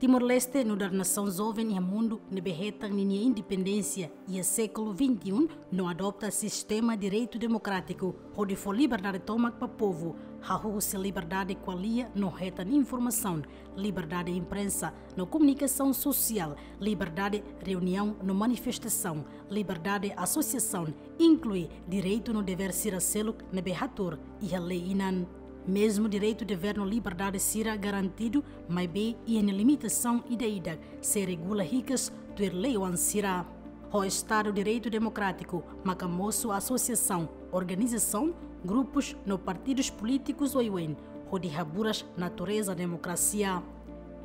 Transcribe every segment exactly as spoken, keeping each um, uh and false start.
Timor-Leste nu'udar nasaun joven iha mundu ne'ebé hetan ninia independénsia iha século vinte e um no adota sistema direitu demokrátiku hodi fó liberdade tomak ba povu, hahú husi liberdade ko'alia no hetan informasaun, liberdade imprensa no komunikasaun sosiál, liberdade reuniaun no manifestasaun, liberdade asosiasaun, inklui direitu no devér sira seluk ne'ebé hatuur iha lei inan. Mezmu direitu, devér no liberdade sira garantidu, maibé iha nia limitasaun ida-idak, sei regula hikas tuir lei-oan sira. Ho Estadu Direitu Demokrátiku maka mosu asosiasaun, organizasaun, grupus no partidus polítikus oioin, hodi haburas natureza demokrasia.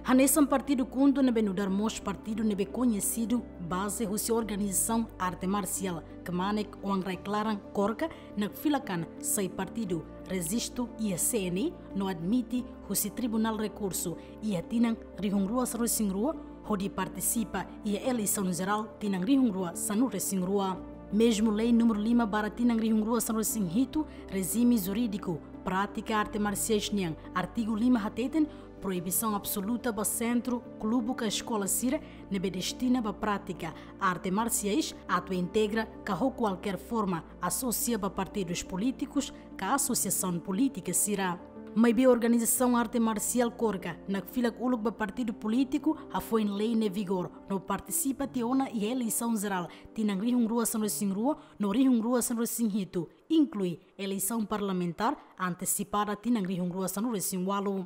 Hanesan partidu KHUNTO ne'ebé nu'udar mós partidu ne'ebé koñesidu baze husi organizasaun arte marsiál kmanek oan rai-klaran KORKA, nakfilak an sai partidu rejistu iha C N E no admite husi Tribunál Rekursu iha tinan rihun rua sanulu-resin-rua hodi partisipa iha eleisaun jerál tinan rihun rua sanulu-resin-rua. Mezmu lei númeru lima barra tinan rihun rua sanulu-resin-hitu, rejime jurídiku prátika arte marsiais nian, artigu lima hateten, proibisaun absoluta ba sentru, klubu ka eskola sira ne'ebé destina ba prátika arte marsiais atu integra ka ho kualkér forma asosia ba partidus polítikus ka asosiasaun polítika sira. Maibé organizasaun arte marsiál KORKA nakfilak uluk ba partidu polítiku hafoin lei ne'e vigor no partisipa tiha ona iha eleisaun jerál tinan rihun rua sanulu-resin-rua no rihun rua sanulu-resin-hitu, inklui eleisaun parlamentár antesipada tinan rihun rua sanulu-resin-ualu.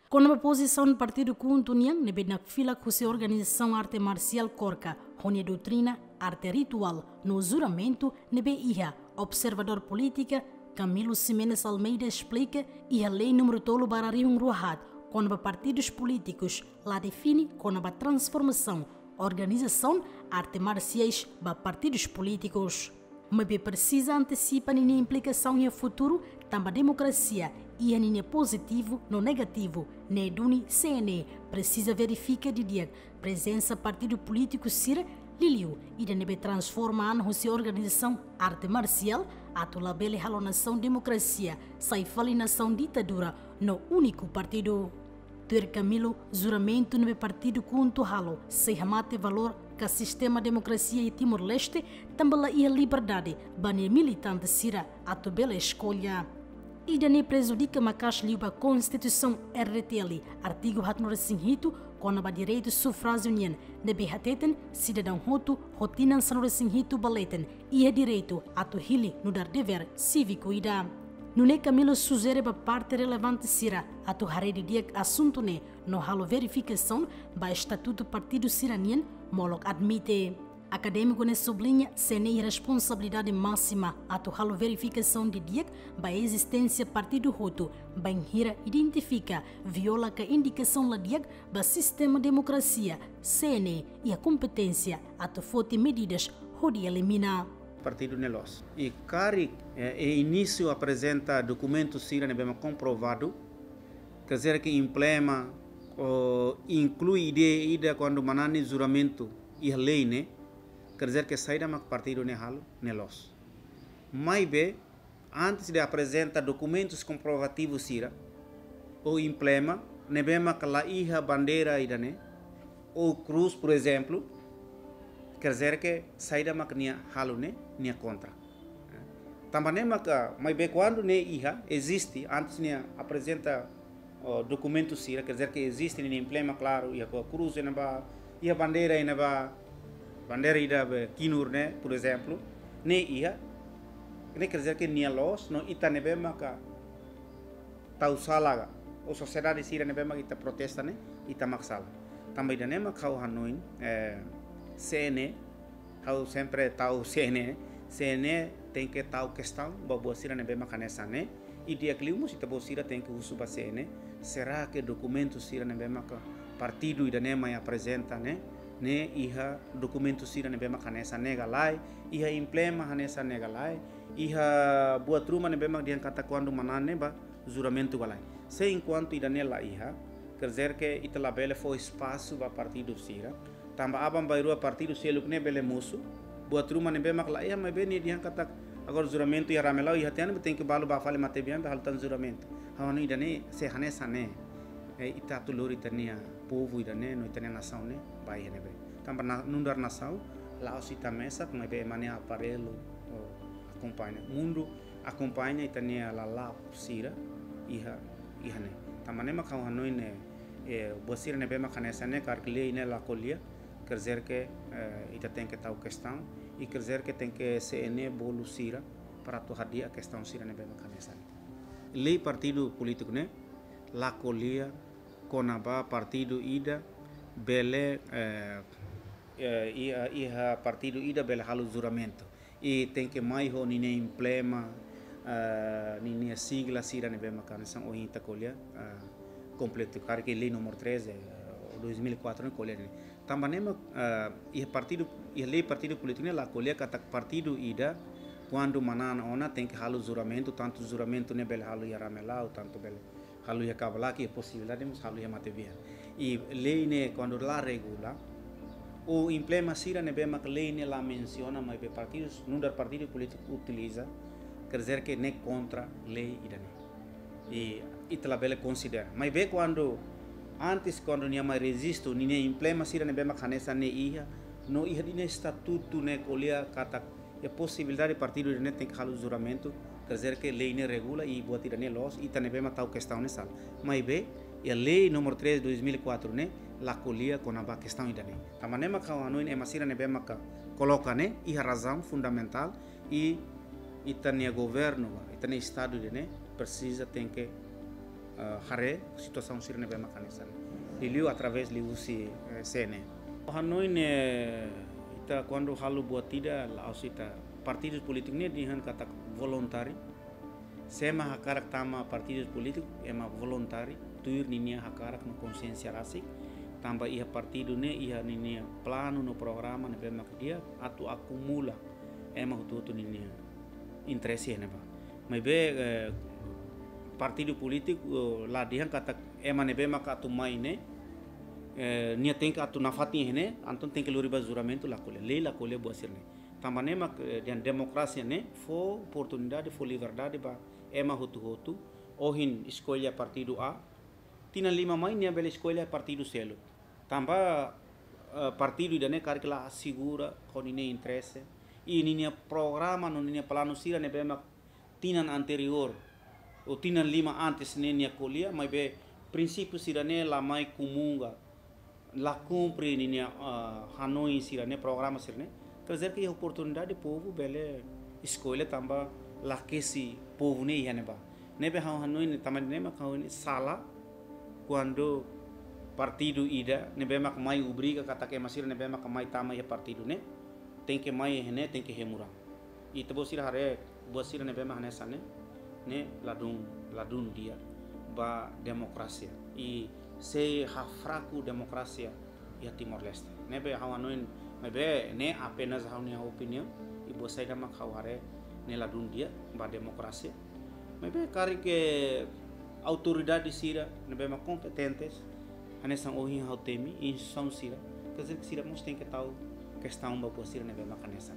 Kona-ba pozisaun partidu KHUNTO nian ne'ebé nakfilak husi organizasaun arte marsiál KORKA, ho nia doutrina, arte rituál no juramentu ne'ebé iha, observadór polítika Camilo Ximenes Almeida esplika iha lei númeru tolu barra rihun rua haat kona-ba partidus polítikus la define kona-ba transformasaun organizasaun arte marsiais ba partidus polítikus. Maibé presiza antesipa ninia implikasaun iha futuru, tanba demokrasia iha ninia pozitivu no negativu, ne'e duni C N E presiza verifika didi'ak prezensa partidu polítiku sira, liuliu ida ne'ebé transforma an husi organizasaun arte marsiál atu labele halo nasaun demokrasia, sai fali nasaun ditadura no úniku partidu. Tuir Camilo, juramentu ne'ebé partidu KHUNTO halo sei hamate valór ka sistema demokrasia iha Timor-Leste, tanba la iha liberdade ba nia militante sira atu bele eskolla. Ida-ne'e prejudika maka'as liu ba Konstituisaun R D T L, artigu haatnulu-resin-hitu, kona-ba direitu sufrájiu nian, ne'ebé hateten sidadaun hotu ho tinan sanulu-resin-hitu ba leten iha direitu atu hili nu'udar devér síviku ida. Nune'e Camilo sujere ba parte relevante sira atu haree didi'ak asuntu ne'e no halo verifikasaun ba estatutu partidu sira-nian, molok admite. Akadémiku ne'e subliña, C N E iha responsabilidade másima atu halo verifikasaun didi'ak ba ezisténsia partidu hotu, bainhira identifika viola ka indikasaun la di'ak ba sistema demokrasia, C N E iha kompeténsia atu foti medidas hodi elimina. Partidu ne'e loos. I karik, eh, e inísiu aprezenta dokumentu sira ne'ebé mak komprovadu, quer dizer que emblema, ou inklui ideia ida kuandu manán nia juramentu iha lei ne'e, quer dizer que saida mak partidu ne'e halo, ne'e loos. Maibé, antes de aprezenta dokumentus komprovativus sira, ou emblema ne'ebé mak la iha bandeira ida-ne'e, ou krús, por exemplo, quer dizer que saida mak nia halo ne'e, nia kontra. Tanba ne'e maka, maibé kuandu ne'e iha, eziste, antes nia aprezenta, ó, dokumentu sira, quer dizer que eziste ninia emblema klaru, iha ko krús ne'ebá, iha bandeira ne'ebá, bandeira ida be kinur ne'e, por exemplo, ne'e iha, ne'e quer dizer que nia loos, no ita ne'ebé maka tau sala ka, ou sosiedade sira ne'ebé mak ita protesta ne'e, ita mak sala. Tanba ida-ne'e mak ha'u hanoin, eh, C N E, ha'u sempre tau C N E, C N E tenke tau kestaun ba buat sira ne'ebé mak hanesan ne'e, i di'ak liu mós ita-boot sira tenke husu ba C N E, será que dokumentu sira ne'ebé mak partidu ida-ne'e mai aprezenta ne'e, ne'e iha dokumentu sira ne'ebé mak hanesan ne'e ka lae, iha emblema hanesan ne'e ka lae, iha buat ruma ne'ebé mak dehan katak kuandu manán ne'e ba juramentu ka lae. Se enkuantu ida-ne'e la iha, Quer dizer que ita labele fó espasu ba partidu sira. Tanba aban-bainrua partidu seluk ne'e bele mosu. Buat ruma ne'ebé mak laiha, maibé nia dehan katak agora juramentu iha Ramelau, iha tiha ne'ebé tenke balu bá fali matebian, bá halo tan juramentu. Ha'u hanoin ida-ne'e, se hanesan ne'e, eh, ita atu lori ita-nia povu ida-ne'e, no ita-nia nasaun ne'e, ba iha ne'ebé. Tanba na, nu'udar nasaun, la'ós ita mesak, maibé ema nia aparellu, oh, akompaña. Mundu akompaña ita-nia lala'ok sira iha, iha ne'e. Tanba ne'e mak ha'u hanoin ne'e, eh, buat sira ne'ebé mak hanesan ne'e karik lei ne'e la ko'alia, quer dizer que, eh, ita tenke tau kestaun, i quer dizer que tenke C N E bolu sira para atu hadi'a kestaun sira ne'ebé mak hanesan ne'e. Lei partidu polítiku ne'e la ko'alia kona-ba partidu ida bele, eh, eh, iha, iha partidu ida bele halo juramentu. I tenke mai ho ninia emblema, eh, ninia sigla sira ne'ebé mak hanesan ohin ita ko'alia, eh, kompletu. Karik lei número treze, eh, dois mil e quatro ne'e ko'alia ne'e. Tanba ne'e mak, eh, iha partidu, iha lei partidu polítiku ne'e la ko'alia katak partidu ida, kuandu manán ona tenke halo juramentu, tantu juramentu ne'e bele halo iha Ramelau, tantu bele halo iha Kabalak, iha posibilidade mós halo iha matebian. I lei ne'e kuandu la regula, ou emblema sira ne'ebé mak lei ne'e la mensiona, maibé partidus, nu'udar partidu polítiku utiliza, quer dizer que ne'e kontra lei ida-ne'e. I ita labele konsidera. Maibé kuandu, antes kuandu nia mai rejistu, ninia emblema sira ne'ebé mak hanesan ne'e iha, no iha ninia estatutu ne'e ko'alia katak iha posibilidade partidu ida-ne'e tenke halo juramentu, quer dizer que lei ne'e regula i buat ida-ne'e loos, ita ne'ebé mak tau kestaun ne'e sala. Maibé, iha lei número treze dois mil e quatro ne'e, la ko'alia kona-ba kestaun ida-ne'e. Tanba ne'e mak ha'u hanoin ema sira ne'ebé maka koloka ne'e, iha razaun fundamentál, i ita-nia governu, ita-nia estadu ida-ne'e, presiza tenke, eh, haree situasaun sira ne'ebé mak hanesan. Liuliu através liuhusi, eh, C N E. Ha'u hanoin ne'e ita kuandu halo buat ida la'ós ita partidu polítiku ne'e dehan katak voluntáriu. Se ema hakarak tama partidu polítiku, ema voluntáriu, tuir ninia hakarak no konsiénsia rasik. Tanba iha partidu ne'e, iha ninia planu no programa ne'ebé mak di'ak atu akumula ema hotu-hotu ninia interese ne'ebá. Maibé, eh, partidu polítiku, eh, la dehan katak ema ne'ebé mak atu mai ne'e, eh, nia tenke atu nafatin ne'e, entaun tenke lori ba juramentu, la ko'alia, lei la ko'alia buat sira-ne'e. Tanba ne'e mak, eh, dehan demokrasia ne'e fó oportunidade, fó liberdade ba ema hotu-hotu, ohin eskolla partidu A, tinan lima mai nia bele eskolla partidu seluk. Tanba, eh, partidu ida-ne'e karik la asegura ho ninia interese, i ninia programa no ninia planu sira ne'ebé mak tinan anteriór, ou tinan lima antes ne'e nia ko'alia, maibé prinsípiu sira-ne'e la mai kumunga, la kumpre ninia, ah, hanoin sira-ne'e, programa sira-ne'e. Quer dizer que iha oportunidade povu bele eskolla tanba lakesi povu ne'e iha ne'ebá. Ne'ebé ha'u hanoin ne'e tanba ne'e mak ha'u hanoin sala kuandu partidu ida ne'ebé mak mai obriga katak ema sira ne'ebé mak mai tama iha partidu ne'e, tenke mai iha ne'e, tenke hemu raan. Ita-boot sira haree buat sira ne'ebé mak hanesan ne'e, ne'e ladún, ladún di'ak ba demokrasia. I sei hafraku demokrasia iha Timor-Leste. Ne'ebé ha'u hanoin, maibé ne'e apenas ha'u-nia opiniaun, i buat saida mak ha'u haree ne'e ladún di'ak ba demokrasia. Maibé karik autoridade sira ne'ebé mak kompetentes, hanesan ohin ha'u temi, instituisaun sira, quer dizer que sira mós tenke tau kestaun ba buat sira ne'ebé mak hanesan.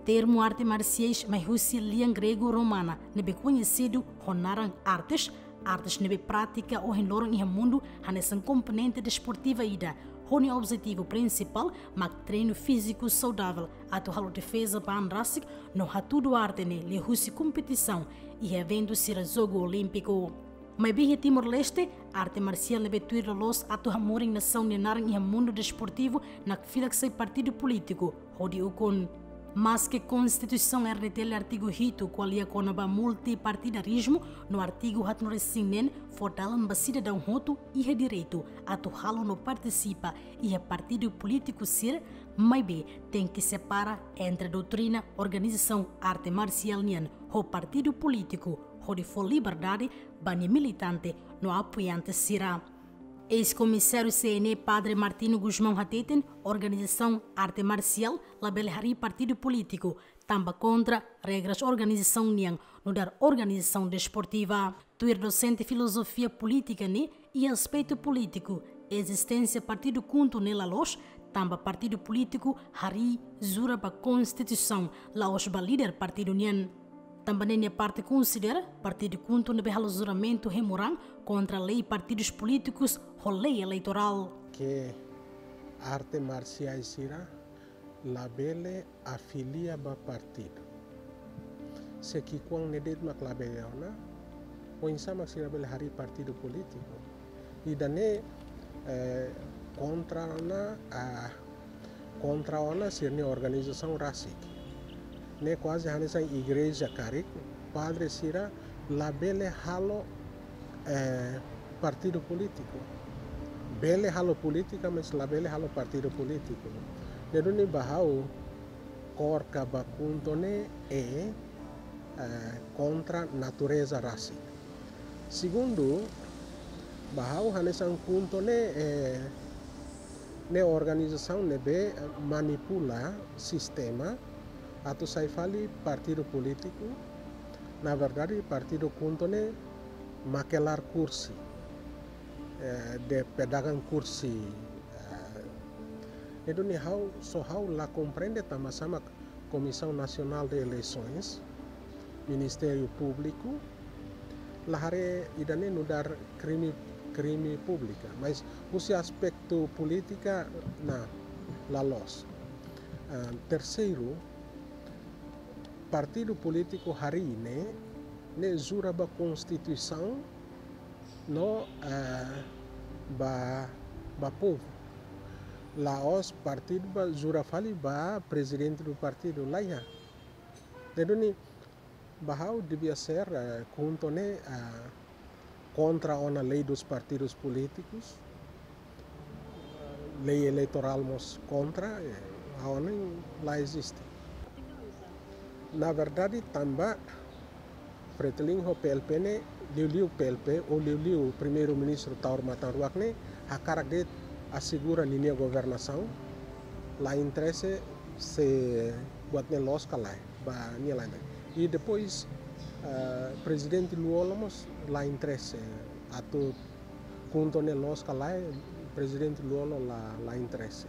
Termu arte marsiais mai husi lian gregu romana ne'ebé koñesidu ho naran artes, artes ne'ebé pratika ohin loron iha mundu hanesan komponente desportiva ida, ho nia objetivu prinsipál mak treinu fíziku saudavel atu halo defeza ba an rasik no hatudu arte ne'e liuhusi kompetisaun iha eventu sira Jogu Olímpiku. Maibé iha Timor-Leste, arte marsiál ne'ebé tuir loloos atu hamorin nasaun nia naran iha mundu desportivu nakfilak sai partidu polítiku, hodi ukun. Maske Konstituisaun R D T L artigu hitu ko'alia kona-ba multipartidarizmu no artigu haatnulu-resin-neen fó dalan ba sidadaun hotu iha direitu atu halo no partisipa iha partidu polítiku sira, maibé tenke separa entre doutrina organizasaun arte marsiál nian ho partidu polítiku, hodi fó liberdade ba nia militante no apoiante sira. Eis-komisáriu C N E Padre Martinho Gusmão hateten, organizasaun arte marsiál labele harii partidu polítiku, tanba kontra regras organizasaun nian nu'udar organizasaun desportiva. Tuir dosente filozofia polítika ne'e, iha aspetu polítiku, ezisténsia partidu KHUNTO ne'e la loos, tanba partidu polítiku harii jura ba konstituisaun, la'ós ba líder partidu nian. Tanba ne'e nia parte konsidera partidu KHUNTO ne'ebé halo juramentu hemu raan kontra lei partidus polítikus ho lei eleitorál. Ke arte marsiais sira labele afilia ba partidu. Se ki'ikoan ne'e de'it mak labele ona, oinsá mak sira bele harii partidu polítiku? Ida-ne'e, eh, kontra ona, ah, kontra ona sira-nia organizasaun rasik. Ne'e kuaze hanesan igreja karik, padre sira labele halo, eh, partidu polítiku. Bele halo polítika, mas labele halo partidu polítiku. Ne'e duni ba ha'u, KOR ka ba KHUNTO ne'e, eh, kontra natureza rasik. Segundu, ba ha'u hanesan KHUNTO ne'e, eh, ne'e organizasaun ne'ebé, eh, manipula sistema atu sai fali partidu polítiku. Na verdade, partidu KHUNTO ne'e makelar kursi, eh, de pedagang kursi, eh, ne'e duni ha'u, só ha'u la komprende tanbasá mak Komisaun Nasionál de Eleisoens, Ministériu Públiku, la haree ida-ne'e nu'udar krime, krime públika, mas husi aspetu polítika, na, la loos. Ah, terseiru, partidu polítiku harii ne'e, ne'e jura ba konstituisaun no, eh, ba, ba povu. La'ós partidu ba jura fali ba prezidente do partidu, la iha. Ne'e duni ba ha'u devia ser, eh, KHUNTO ne'e, eh, kontra ona lei dos partidos políticos, lei eleitorál mós kontra, eh, ha'u hanoin la eziste. Na verdade, tanba Fretilin ho PLP ne'e, liuliu PLP, ou liuliu Primeiru-Ministru Taur Matan Ruak ne'e, hakarak de'it asegura ninia governasaun, la interese se buat ne'e loos ka lae, ba nia la interese. I depois, eh, Prezidente Lú-Olo mós la interese atu KHUNTO ne'e loos ka lae, Prezidente Lú-Olo la, la interese.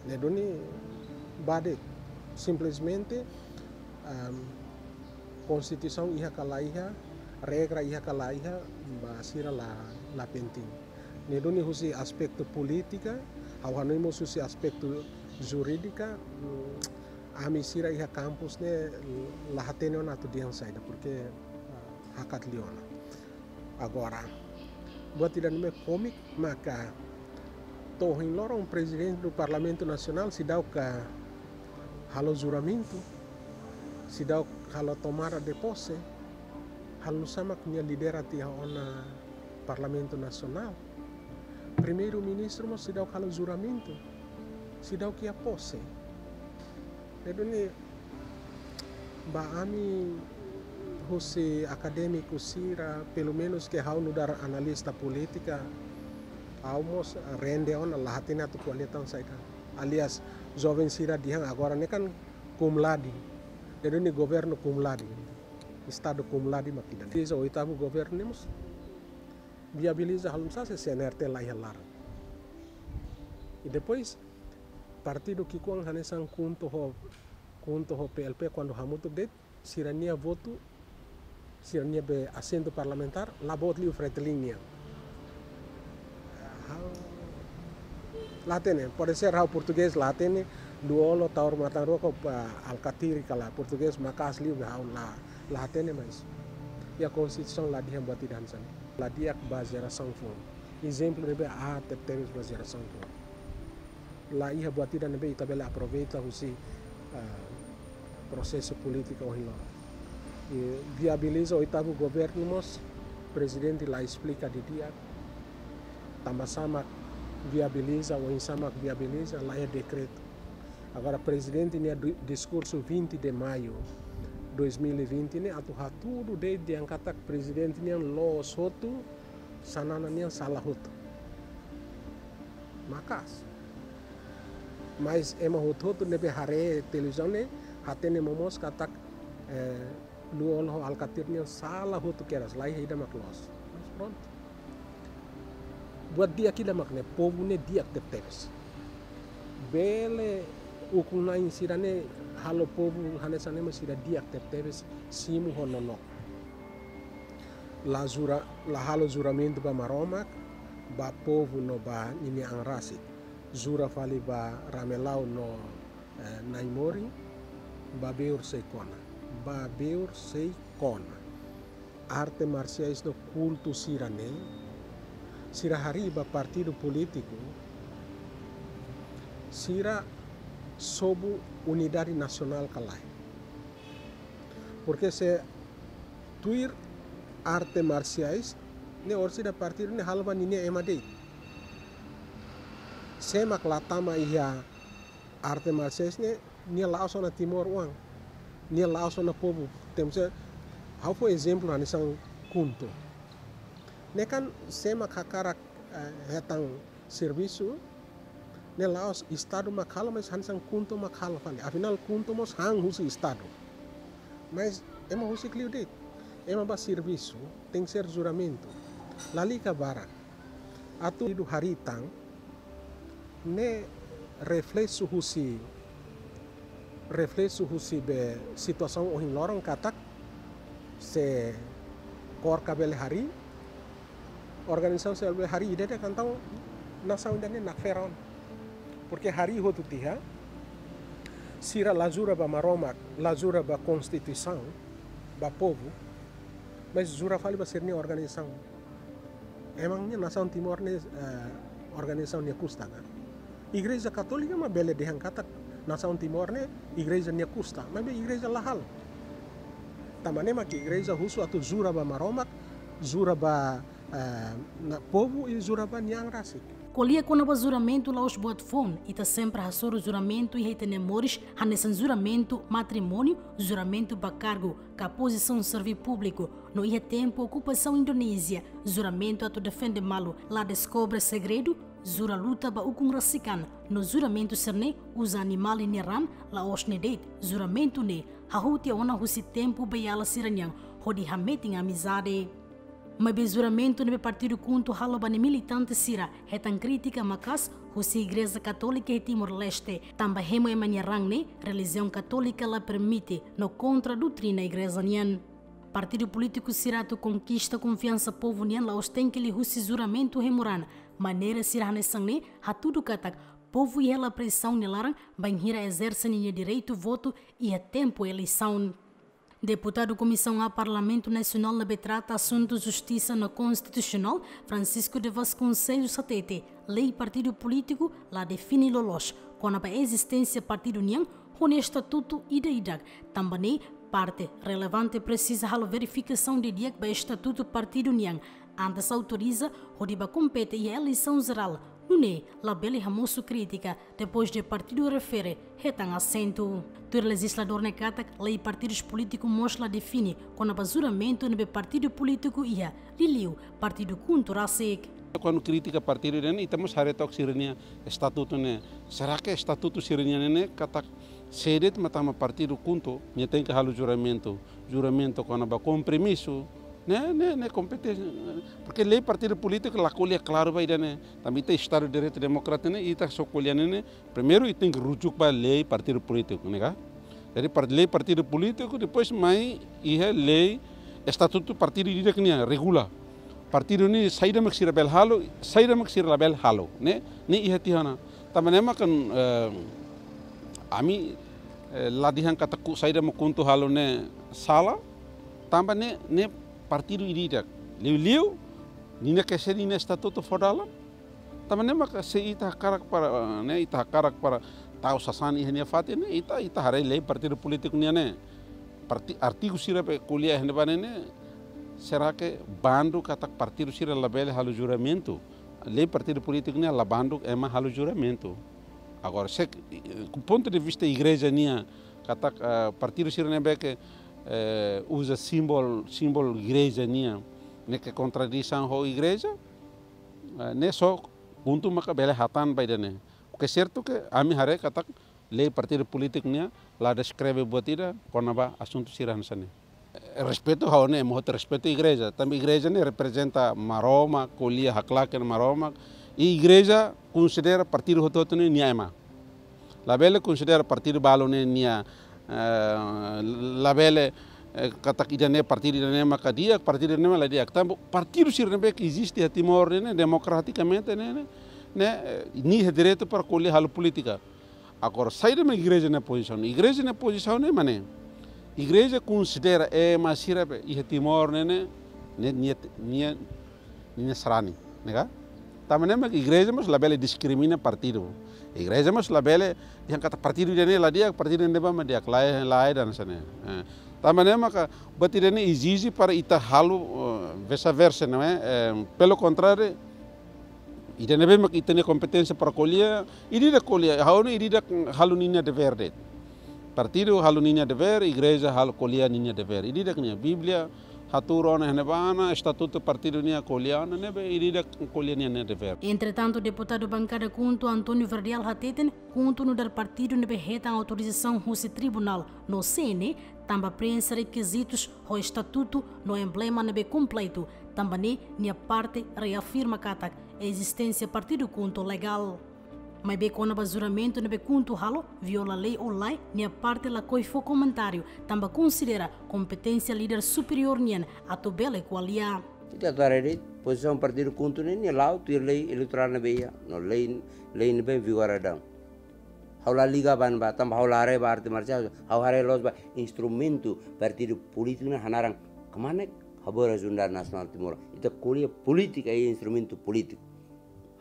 Ne'e duni ba de'it, simplesmente, ehm, konstituisaun iha ka la iha, regra iha ka la iha, ba sira la, la penting. Ne'e duni husi aspetu polítika, ha'u hanoin mós husi aspetu jurídika, mm, ami sira iha kampus ne'e la hatene ona atu dehan saida, porque, ah, hakat liu ona. Agora, buat ida ne'ebé kómiku, maka to'o ohin loron Prezidente do Parlamentu Nasionál seidauk halo juramentu, seidauk halo tomada de pose, halo nu'usá mak nia lidera tiha ona Parlamentu Nasionál. Primeiru-Ministru mós seidauk halo juramentu, seidauk iha pose. Ne'e duni ba ami husi akadémiku sira, pelumenus ke ha'u nu'udar analista polítika, ha'u mós rende ona, la hatene atu ko'alia tan saida. Aliás, joven sira dehan agora ne'e kan cum laude. Ne'e duni governu cum laude. Estadu cum laude mak ida-ne'e. Iha oitavu governu ne'e mós viabiliza halo nu'usá se CNRT la iha laran. I depois, partidu ki'ikoan hanesan KHUNTO ho, KHUNTO ho PLP kuandu hamutuk de'it, sira-nia votu, sira-nia be asentu parlamentár, la boot liu Fretilin nian. Ha'u la hatene, pode ser ha'u portugés la hatene, Lú-Olo, Taur Matan Ruak, ah, Alkatiri ka lae, portugés maka'as liu ha'u la, la hatene, mas iha konstituisaun la dehan buat ida hanesan ne'e. La di'ak ba jerasaun foun. Ezemplu ne'ebé aat tebes ba jerasaun foun. La iha buat ida ne'ebé ita bele aproveita husi, ah, prosesu polítika ohin loron. I viabiliza oitavu governu mós, prezidente la esplika didi'ak tanbasá mak viabiliza, oinsá mak viabiliza, la iha dekretu. Agora, prezidente nia du-, diskursu vinte de maio dois mil e vinte ne'e atu hatudu de'it dehan katak prezidente nian loos hotu, Xanana nian sala hotu. Maka'as. Mas ema hotu-hotu ne'ebé haree televizaun ne'e, hatene momoos katak, eh, Lú-Olo ho Alkatiri nian sala hotu kedas, laiha ida mak loos. Mas prontu. Buat di'ak ida mak ne'e, povu ne'e di'ak tebetebes. Bele ukun-na'in sira-ne'e halo povu hanesan ne'e, mas sira di'ak tebetebes, simu ho nonook. La jura, la halo juramentu ba Maromak, ba povu no ba ninia an rasik. Jura fali ba Ramelau no, eh, Naimori, ba beur sei kona. Ba beur sei kona. Arte marsiais no kultu sira-ne'e, sira harii ba partidu polítiku, sira sobu unidade nasionál ka lae. Porke se tuir arte marsiais ne'e, orsida partidu ne'e halo ba ninia ema de'it. Sé mak la tama iha arte marsiais ne'e, nia la'ós ona Timor oan, nia la'ós ona povu. Temos, eh, ha'u fó ezemplu hanesan KHUNTO. Ne'e kan sé mak hakarak, eh, hetan servisu, ne'e la'ós Estadu mak halo, mas hanesan KHUNTO mak halo fali. Afinál, KHUNTO mós han husi Estadu. Mas ema husik liu de'it. Ema ba servisu, tenke ser juramentu. Lalika barak. Atu idu harii tan, ne'e refleksu husi, refleksu husi be situasaun ohin loron katak, se KORKA bele harii, organizasaun sira bele harii, ida-idak entaun nasaun ida-ne'e nakfera ona. Porke harii hotu tiha, sira la jura ba Maromak, la jura ba konstituisaun, ba povu, mas jura fali ba sira-nia organizasaun. Emangnya nasaun Timor ne'e, eh, organizasaun nia kusta ka? Igreja Katólika mak bele dehan katak nasaun Timor ne'e igreja nia kusta, maibé igreja la halo. Tanba ne'e mak igreja husu atu jura ba Maromak, jura ba, eh, na povu i jura ba nia an rasik. Ko'alia kona-ba juramentu la'ós buat foun, ita sempre hasoru juramentu iha ita-nia moris, hanesan juramentu matrimóniu, juramentu ba kargu, ka pozisaun servi públiku, no iha tempu okupasaun Indonézia, juramentu atu defende malu, la deskobre segredu, jura luta ba ukun rasik an, no juramentu sira-ne'e uza animál nia raan, la'ós ne'e de'it, juramentu ne'e hahú tiha ona husi tempu beiala sira-nian, hodi hametin amizade. Maibé juramentu ne'ebé partidu KHUNTO halo ba nia militante sira, hetan krítika maka'as husi Igreja Katólika iha Timor-Leste, tanba hemu ema nia raan ne'e relijiaun katólika la permite no kontra doutrina igreja nian. Partidu polítiku sira atu konkista konfiansa povu nian la'ós tenke liuhusi juramentu hemu raan, maneira sira hanesan ne'e hatudu katak povu iha hela presaun nia laran bainhira ezerse ninia direitu votu iha tempu eleisaun. Deputadu Komisaun A Parlamentu Nasionál ne'ebé trata asuntu justisa no konstitusionál, Francisco de Vasconcelos hatete, lei partidu polítiku la define loloos kona-ba ezisténsia partidu nian ho nia estatutu ida-idak, tanba ne'e parte relevante presiza halo verifikasaun didi'ak ba estatutu partidu nian antes autoriza hodi bá kompete iha eleisaun jerál, nune'e labele hamosu krítika depois de partidu refere hetan asentu. Tuir lejizladór ne'e katak lei partidus polítiku mós la define kona-ba juramentu ne'ebé partidu polítiku iha, liuliu partidu KHUNTO rasik. Kuandu krítika partidu ne'e, ita mós haree took sira-nia estatutu ne'e. Será que estatutu sira-nian ne'e katak sé de'it mak tama partidu KHUNTO, nia tenke halo juramentu, juramentu kona-ba kompromisu, ne'e, ne'e, ne'e kompeténsia. Porke lei partidu polítiku la ko'alia klaru ba ida-ne'e. Tanba ita Estadu de Direitu Demokrátiku ne'e, ita só ko'alia ne'e, ne'e, primeiru ita tenke rujuk ba lei partidu polítiku, ne'e ka? Jadi, par-, lei partidu polítiku, depois mai iha lei estatutu partidu ida-idak nian, regula. Partidu ne'e saida mak sira bele halo, saida mak sira labele halo, ne'e, ne'e iha tiha ona. Tanba ne'e mak kan, eh, ami, eh, la dehan katak saida mak KHUNTO halo ne'e sala, tanba ne'e, ne'e partidu ida-idak. Liuliu, ninia kese ninia estatutu fó dalan, tanba ne'e maka se ita hakarak para, eh, ne'e ita hakarak para tau sasán iha nia fatin ne'e, ita, ita haree lei partidu polítiku nian ne'e. Parti-, artigu sira be ko'alia iha ne'ebá ne'e, será que bandu katak partidu sira labele halo juramentu? Lei partidu polítiku ne'e la bandu ema halo juramentu. Agora, se, eh, ku pontu de vista igreja nian, katak, eh, partidu sira ne'ebé ke, eh, uza símbolu, símbolu igreja nian, ne'e ke kontradisaun ho igreja, eh, ne'e só KHUNTO maka bele hatán ba ida-ne'e. É sertu ke ami haree katak lei partidu polítiku nian la deskreve buat ida kona-ba asuntu sira hanesan ne'e. Respeitu ha'u ne'e, ema hotu respeitu igreja. Tanba igreja ne'e reprezenta Maromak, ko'alia haklaken Maromak. I igreja konsidera partidu hotu-hotu ne'e nia ema. Labele konsidera partidu balu ne'e nia, eh, labele, eh, katak ida-ne'e partidu ida-ne'e maka di'ak, partidu ida-ne'e maka la di'ak. Tanba partidu sira ne'ebé ke eziste iha Timor ne'e, ne'e demokratikamente ne'e, ne'e, ne'e, eh, nia iha direitu para ko'alia halo polítika. Agora, saida mak igreja nia pozisaun? Igreja nia pozisaun ne'e mak ne'e. Igreja konsidera ema sira be iha Timor ne'e, ne'e, ne'e, nia, nia, nia sarani, ne'e ka? Tanba ne'e mak igreja mós labele diskrimina partidu. Igreja mós labele dehan katak partidu ida-ne'e la di'ak, partidu ida-ne'ebá mak di'ak, lae, lae dan hanesan ne'e. Eh, tanba ne'e maka buat ida-ne'e ezije para ita halo, eh, vice-versa, não é? Eh, pelo contrário, ida-ne'ebé mak ita-nia kompeténsia para ko'alia, ida-idak ko'alia, ha'u ne'e ida-idak halo ninia devér de'it. Partidu halo ninia devér, igreja halo ko'alia ninia devér. Ida-idak nia Bíblia hatuur ona iha ne'ebá ona, estatutu partidu nian ko'alia ona ne'ebé, ida-idak ko'alia ninia devér. Entretantu, deputadu bankada KHUNTO António Verdial hateten, KHUNTO nu'udar partidu ne'ebé hetan autorizasaun husi tribunál no C N E, tanba preenxe rekizitus ho estatutu no emblema ne'ebé kompletu, tanba ne'e nia parte reafirma katak ezisténsia partidu KHUNTO legál. Maibé kona-ba juramentu ne'ebé KHUNTO halo, viola lei ou lae, nia parte lakohi fó komentáriu, tanba konsidera kompeténsia líder superiór nian atu bele ko'alia. Ita atu haree de'it, pozisaun partidu KHUNTO ne'e, nia la'o tuir lei eleitorál ne'ebé iha, no lei, lei ne'ebé vigora daudaun. Ha'u la liga ba ne'ebá, tanba ha'u la haree ba arte marsiais, ha'u haree loos ba instrumentu partidu polítiku ne'e hanaran kmanek, haburas Unidade Nasionál Timor. Ita ko'alia polítika i instrumentu polítiku.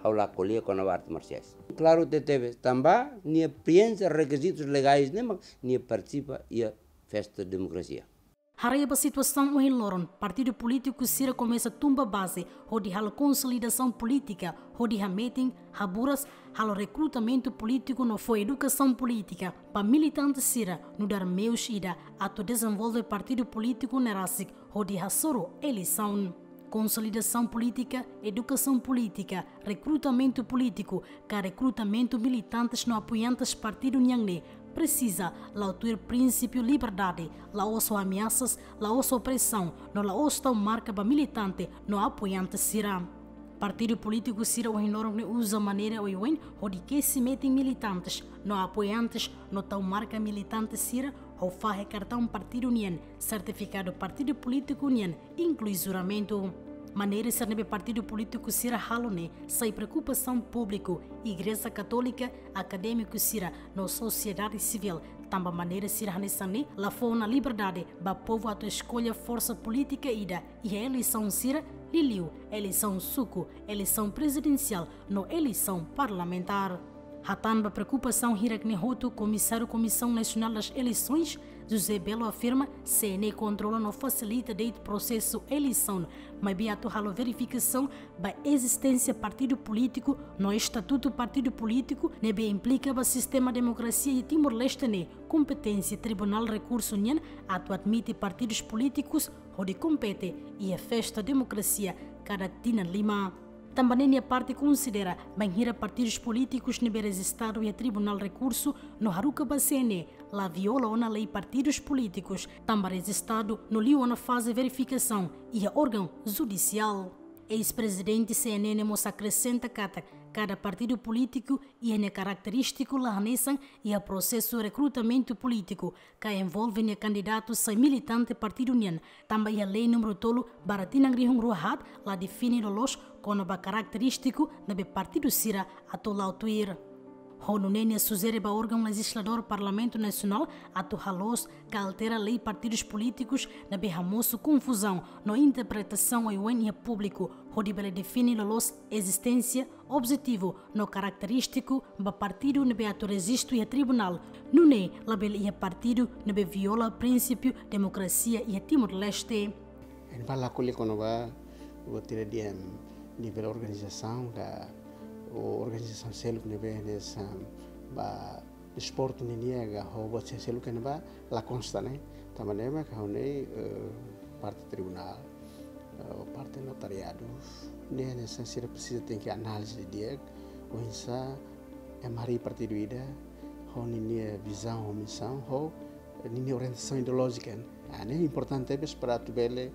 Ha'u la ko'alia kona-ba arte marsiais. Klaru tebetebes, tanba nia preenxe rekizitus legais ne'e mak nia partisipa iha festa demokrasia. Haree ba situasaun ohin loron, partidu polítiku sira komesa tun ba baze, hodi halo konsolidasaun polítika, hodi hametin, haburas, halo rekrutamentu polítiku no fó edukasaun polítika ba militante sira, nu'udar meius ida atu dezenvolve partidu polítiku ne'e rasik, hodi hasoru eleisaun. Konsolidasaun polítika, edukasaun polítika, rekrutamentu polítiku, ka rekrutamentu militantes no apoiantes partidu nian ne'e presiza la'o tuir prinsípiu liberdade, la'ós ho ameasas, la'ós ho presaun, no la'ós tau marka ba militante no apoiante sira. Partidu polítiku sira ohin loron ne'e uza maneira oioin hodi kesi metin militantes no apoiantes no tau marka militante sira ho fahe kartaun partidu nian, sertifikadu partidu polítiku nian, inklui juramentu. Maneira sira ne'ebé partidu polítiku sira halo ne'e sai preokupasaun públiku, Igreja Katólika, akadémiku sira no sosiedade sivíl, tanba maneira sira hanesan ne'e la fó ona liberdade ba povu atu eskolla forsa polítika ida iha eleisaun sira, liuliu eleisaun suku, eleisaun prezidensiál no eleisaun parlamentár. Hatán ba preokupasaun hirak-ne'e hotu, Komisáriu Comissão Nacional das Eleições, José Belo afirma, C N E kontrola no fasilita de'it prosesu eleisaun, maibé atu halo verifikasaun ba ezisténsia partidu polítiku no estatutu partidu polítiku ne'ebé implika ba sistema demokrasia iha Timor-Leste ne'e, kompeténsia Tribunál Rekursu nian atu admite partidus polítikus hodi kompete iha festa demokrasia kada tinan lima. Tanba ne'e nia parte konsidera bainhira partidus polítikus ne'ebé rejistadu iha Tribunál Rekursu no haruka ba C N E la viola ona lei partidus polítikus, tanba rejistadu no liu ona faze verifikasaun iha órgaun judisiál. Eis-prezidente C N E ne'e mós akresenta katak kada partidu polítiku iha nia karakterístiku la hanesan iha prosesu rekrutamentu polítiku, ka envolve nia kandidatu sai militante partidu nian, tanba iha lei númeru tolu barra tinan rihun rua haat la define loloos kona-ba karakterístiku ne'ebé partidu sira atu la'o tuir. Ho nune'e nia sujere ba órgaun lejizladór Parlamentu Nasionál atu haloos ka altera lei partidus polítikus ne'ebé hamosu konfuzaun no interpretasaun oioin iha públiku, hodi bele define loloos ezisténsia, objetivu no karakterístiku ba partidu ne'ebé atu rejistu iha tribunál, nune'e labele iha partidu ne'ebé viola prinsípiu demokrasia iha Timor-Leste. Entaun la ko'alia kona-ba buat ida dehan nivel organizasaun ka organizasaun seluk ne'ebé hanesan ba desportu nian ka ho buat seluk ne'ebá la konsta ne'e. Tanba ne'e mak ha'u ne'e, eh, parte tribunál, eh, parte notariadu, ne'e hanesan sira presiza tenke analiza didi'ak, oinsá Ema harii partidu ida ho ninia vizaun, ho misaun, ho ninia orientasaun ideolójika. Ah, ne'e importante tebes para atu bele,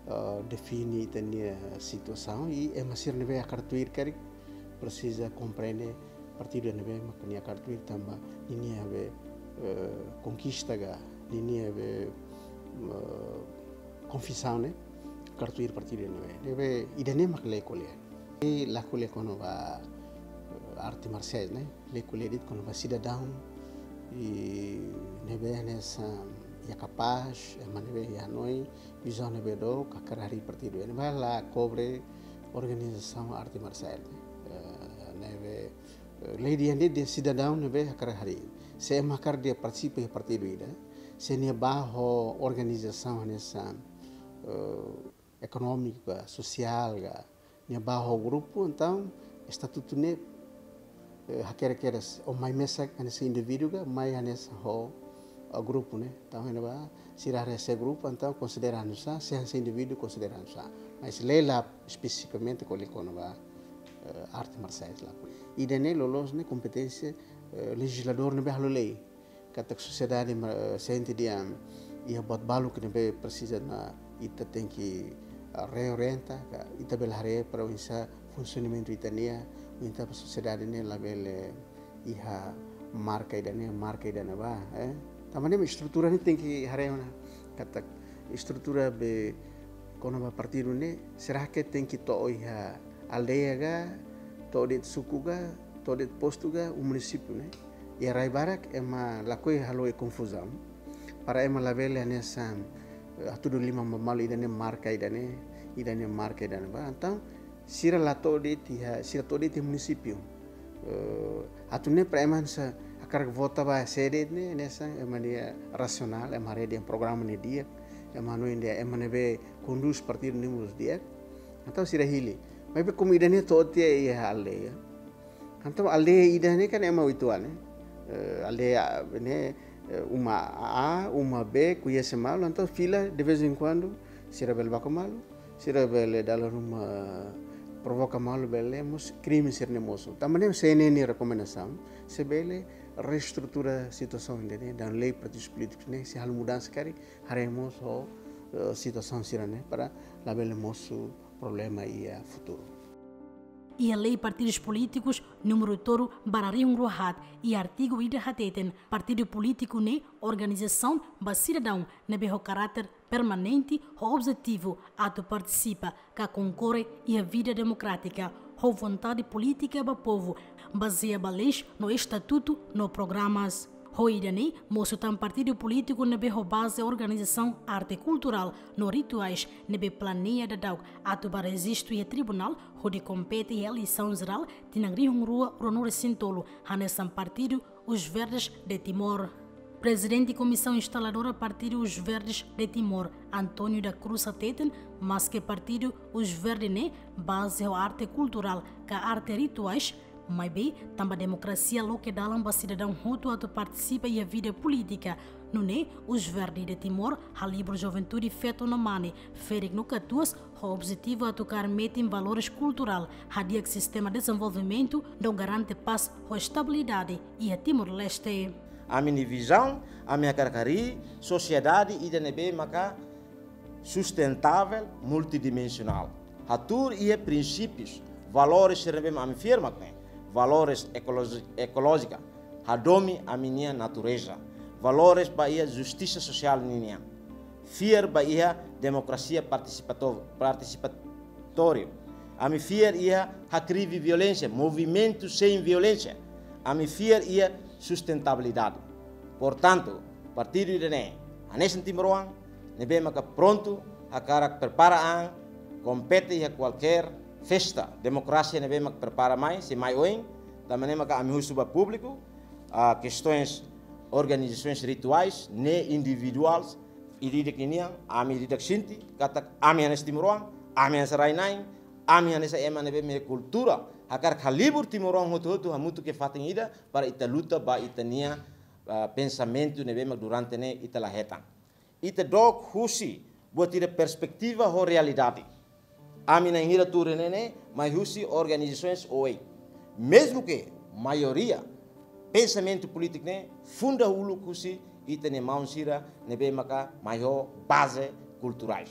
eh, define ita-nia situasaun i ema sira ne'ebé hakarak tuir karik presiza komprende partidu ne'ebé mak nia hakarak tuir tanba ninia be, eh, konkista ka, ninia be, eh, konviksaun ne'e hakarak tuir partidu ne'ebé. Ne'ebé ida-ne'e mak lee ko'alia. I la ko'alia kona-ba, eh, arte marsiais ne'e, lee ko'alia de'it kona-ba sidadaun i ne'ebé hanesan iha kapás, ema ne'ebé iha hanoin, vizaun ne'ebé dook, hakarak harii partidu. Ne'ebá la kobre organizasaun arte marsiais ne'e. Eh, ne'ebé, eh, lee dehan de'it sidadaun ne'ebé hakarak harii. Se ema hakarak dehan partisipa iha partidu ida, se nia bá ho organizasaun hanesan, eh, ekonómiku ka, sosiál ka, nia bá ho grupu, entaun estatutu ne'e, eh, hakerek kedas, ó mai mesak hanesan indivíduu ka, mai hanesan ho, eh, grupu ne'e. Entaun, ne'ebá, sira hanesan grupu, entaun konsidera hanesan, se hanesan indivíduu konsidera hanesan. Mas lee la espesifikamente ko'alia kona-ba, eh, arte marsiais la. Ida-ne'e loloos ne'e kompeténsia, eh, lejizladór ne'ebé halo lei. Katak sosiedade ma-, sente dehan iha buat balu ne'ebé presiza ona, ita tenke, ah, reorienta, ka ita bele haree para oinsá funsionamentu ita-nian, oinsá para sosiedade ne'e labele iha marka ida-ne'e, marka ida-ne'ebá, eh. Tanba ne'e estrutura ne'e tenke haree ona. Katak estrutura be kona-ba partidu ne'e, será que tenke to'o iha aldeia ka, to'o de'it suku ka, to'o de'it postu ka, ou munisípiu ne'e. Iha rai barak ema lakohi halo konfuzaun. Para ema labele hanesan, eh, hatudu liman ba malu ida-ne'e marka ida-ne'e, ida-ne'e marka ida-ne'ebá. Entaun, sira la to'o de'it iha, sira to'o de'it iha munisípiu. Eh, atu nune'e para ema hanesan hakarak vota ba sé de'it ne'e, hanesan ema nia rasionál, ema haree dehan programa ne'e di'ak, ema hanoin dehan ema ne'ebé kondús partidu ne'e mós di'ak. Entaun sira hili. Maibé komu ida-ne'e to'o tiha iha aldeia. Entaun aldeia ida-ne'e kan ema uitoan ne'e. Eh, aldeia ne'e, eh, uma A, uma B, koñese malu, entaun fila de vez em quando, sira bele baku malu, sira bele dala ruma provoka malu bele mós krime sira-ne'e mosu. Tanba ne'e C N N nia rekomendasaun, se bele reestrutura situasaun ida-ne'e, dehan lei partidus polítikus ne'e, se halo mudansa karik, haree mós ho, eh, situasaun sira-ne'e, para labele mosu problema iha futuru. Iha lei partidus polítikus númeru tolu barra rihun rua haat, iha artigu ida hateten, partidu polítiku ne'e organizasaun ba sidadaun ne'ebé ho karáter permanente ho objetivu atu partisipa ka konkorre iha vida demokrátika ho vontade polítika ba povu, bazeia ba leis no estatutu no programas. Ho ida-ne'e, mosu tan partidu polítiku ne'ebé ho baze organizasaun arte kulturál no rituais ne'ebé planeia daudauk atu ba rejistu iha tribunál hodi kompete iha eleisaun jerál tinan rihun rua ruanulu-resin-tolu, hanesan partidu Os Verdes de Timor. Prezidente Komisaun Instaladora Partidu Os Verdes de Timor, António da Cruz hateten, maske partidu Os Verdes ne'e baze ho arte kulturál ka arte rituais, maibé tanba demokrasia loke dalan ba sidadaun hotu atu partisipa iha vida polítika, nune'e Os Verdes de Timor halibur juventude feto no mane, ferik no katuas, ho objetivu atu kaer metin valores kulturál, hadi'ak sistema dezenvolvimentu, no garante pás ho estabilidade iha Timor-Leste. Ami-nia vizaun, ami hakarak harii sosiedade ida ne'ebé maka sustentável, multidimensionál. Hatuur iha prinsípius, valores sira ne'ebé mak ami fiar mak ne'e. Valores ekoloji-, ekolójika, hadomi ami-nia natureza. Valores ba iha justisa sosiál ninian. Fiar ba iha demokrasia partisipato-, partisipatóriu. Ami fiar iha hakrivi violénsia, movimentu sein violénsia. Ami fiar iha sustentabilidade. Portantu, partidu ida-ne'e, hanesan timoroan ne'ebé maka prontu, hakarak prepara an, kompete iha kualkér festa demokrasia ne'ebé mak prepara mai, sei mai oin, tanba ne'e maka ami husu ba públiku, ah, kestaun organizasaun rituais, ne'e individuais, ida-idak ninian, ami ida-idak sente katak ami hanesan timoroan, ami hanesan rai-na'in, ami hanesan ema ne'ebé mak iha kultura, hakarak halibur timoroan hotu-hotu hamutuk iha fatin ida, para ita luta ba ita-nia, ah, pensamentu ne'ebé mak durante ne'e ita la hetan. Ita dook husi buat ida perspetiva ho realidade. Ami na'in hira tuur iha ne'e ne'e, mai husi organizasaun O E. Mezmu ke maioria Pensamentu polítiku ne'e funda uluk husi ita-nia maun sira ne'ebé maka mai ho baze kulturais.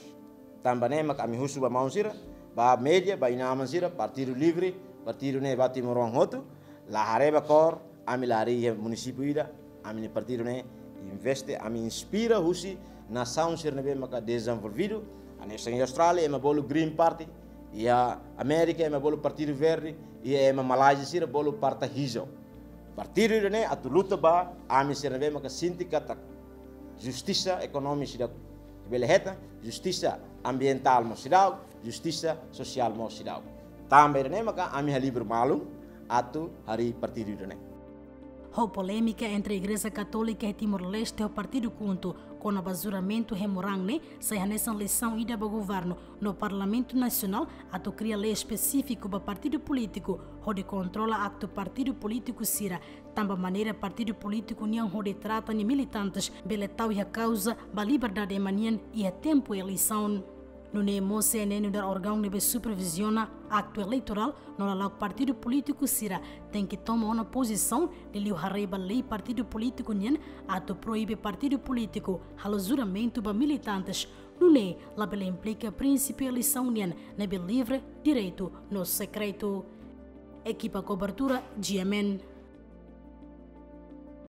Tanba ne'e maka ami husu ba maun sira, ba média, ba inan-aman sira, Partidu Livre, partidu ne'e ba timoroan hotu, la haree ba kór, ami la harii iha munisípiu ida, ami-nia partidu ne'e investe, ami inspira husi nasaun sira ne'ebé maka dezenvolvidu, hanesan iha Austrália, ema bolu Green Party, iha Amérika, ema bolu Partidu Verde, iha ema Malázia sira bolu Partai Hijau. Partidu ida-ne'e atu luta ba ami sira ne'ebé maka sente katak justisa ekonomia seidauk bele hetan, justisa ambientál mós seidauk, justisa sosiál mós seidauk. Tanba ida-ne'e maka ami halibur malu atu harii partidu ida-ne'e. Ho polémika entre Igreja Katólika iha Timor-Leste ho Partidu KHUNTO kona-ba juramentu Hemu Rang ne'e sai hanesan lisaun ida ba governu no Parlamentu Nasionál atu kria lei espesífiku ba partidu polítiku hodi kontrola aktu partidu polítiku sira, tanba maneira partidu polítiku nian hodi trata nia militantes bele tau iha kauza ba liberdade ema nian iha tempu eleisaun. Nune'e mós C N N nu'udar órgaun ne'ebé superviziona aktu eleitorál no lala'ok partidu polítiku sira tenke toma ona pozisaun, liuliu haree ba lei partidu polítiku nian atu proibe partidu polítiku halo juramentu ba militantes. Nune'e labele implika prinsípiu eleisaun nian ne'ebé livre, direitu no sekretu. Ekipa kobertura, G M N.